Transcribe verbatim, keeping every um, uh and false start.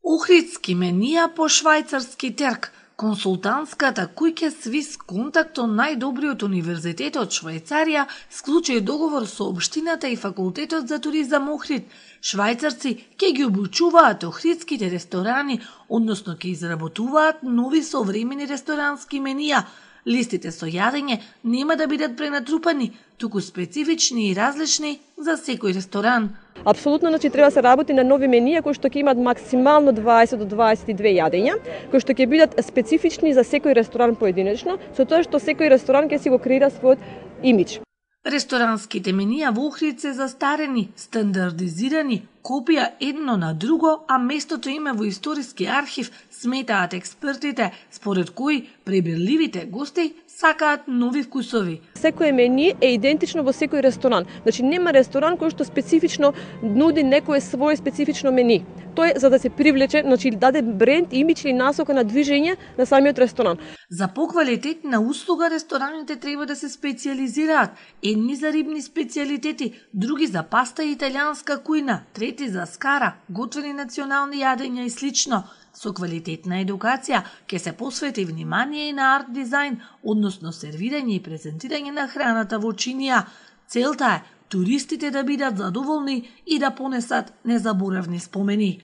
Охридски менија по швајцарски терк. Консултантската куќа Свис Контакт од најдобриот универзитет од Швајцарија склучи договор со општината и факултетот за туризам Охрид. Швајцарци ќе ги обучуваат охридските ресторани, односно ќе изработуваат нови современи ресторански менија. Листите со јадење нема да бидат пренатрупани, туку специфични и различни за секој ресторан. Апсолутно, значи треба да се работи на нови менија кои што ќе имаат максимално дваесет до дваесет и две јадења, кои што ќе бидат специфични за секој ресторан поединечно, со тоа што секој ресторан ќе си го креира својот имидж. Ресторанските менија во Охрид се застарени, стандардизирани, копија едно на друго, а местото им е во историски архив, сметаат експертите, според кои пребирливите гости сакаат нови вкусови. Секој мени е идентично во секој ресторан. Значи нема ресторан кој што специфично нуди некое свое специфично мени. Тоа е за да се привлече, значи даде бренд, имидж или насока на движење на самиот ресторан. За поквалитетна услуга рестораните треба да се специјализираат. Едни за рибни специјалитети, други за паста и италијанска кујна, трети за скара, готвени национални јадења и слично. Со квалитетна едукација ќе се посвети внимание и на арт дизајн, односно сервирање и презентирање на храната во чинија. Целта е туристите да бидат задоволни и да понесат незаборавни спомени.